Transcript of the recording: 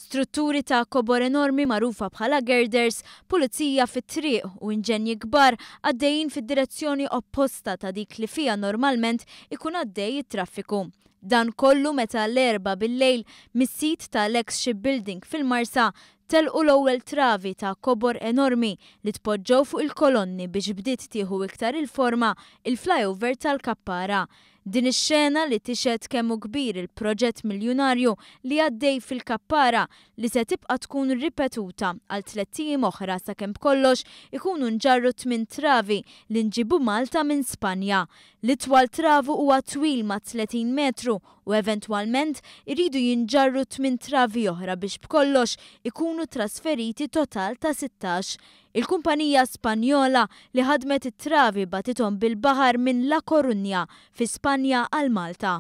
Strutturi ta' kobor enormi magħrufa bħala girders, pulizija fit-triq u inġenji kbar għaddejjin fid-direzzjoni opposta ta' dik li fiha normalment ikun għaddej it-traffiku. Dan kollu meta l-Erbgħa bil-lejl mis-sit tal-eks shipbuilding fil-Marsa telqu l-ewwel travi ta' kobor enormi li tpoġġew fuq il-kolonni biex bdiet tieħu iktar il-forma il-flyover tal-Kappara. Din ix-xena li tixhed kemm hu kbir il-proġett miljunarju li għaddej fil-Kappara li se tibqa' tkun ripetuta għal tlett ijiem oħra sakemm b'kollox ikunu nġarru tminn travi li nġiebu Malta minn Spanja. L-itwal travu huwa twil ma' 30 metru u eventwalment iridu jinġarru tminn travi oħra biex b'kollox ikunu trasferiti total ta' 16. Il-kumpanija Spanjola li ħadmet it-travi bagħtithom bil-baħar minn La Coruña fi Spanja għal Malta.